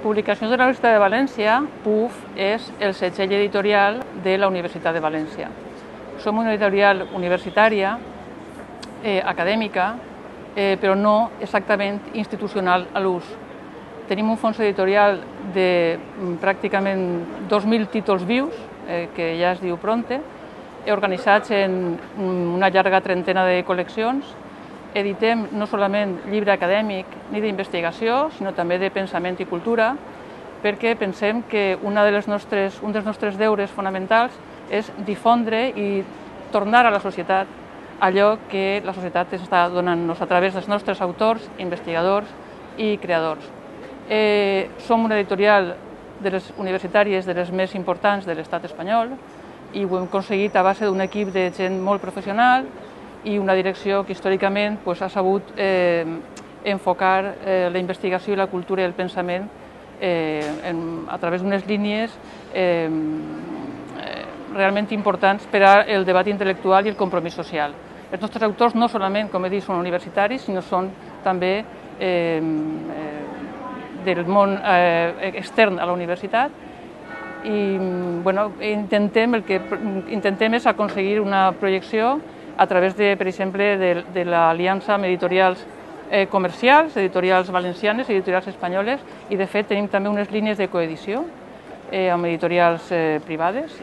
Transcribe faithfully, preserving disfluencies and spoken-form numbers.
Publicacions de la Universitat de València, P U F, és el segell editorial de la Universitat de València. Som una editorial universitària, eh, acadèmica, eh, però no exactament institucional a l'ús. Tenim un fons editorial de pràcticament dos mil títols vius, eh, que ja es diu Pronte, organitzats en una llarga trentena de col·leccions. Editem no solament llibre acadèmic ni d'investigació, sinó també de pensament i cultura, perquè pensem que una de les nostres, un dels nostres deures fonamentals és difondre i tornar a la societat allò que la societat està donant-nos a través dels nostres autors, investigadors i creadors. Eh, som una editorial de les universitàries de les més importants de l'estat espanyol i ho hem aconseguit a base d'un equip de gent molt professional i una direcció que històricament pues, ha sabut eh, enfocar eh, la investigació i la cultura i el pensament eh, en, a través d'unes línies eh, realment importants per al debat intel·lectual i el compromís social. Els nostres autors no solament, com he dit, són universitaris, sinó són també eh, del món eh, extern a la universitat i bueno, intentem, el que intentem és aconseguir una projecció a través, de, per exemple, de, de l'aliança amb editorials eh, comercials, editorials valencianes, editorials espanyoles, i de fet tenim també unes línies de coedició eh, amb editorials eh, privades.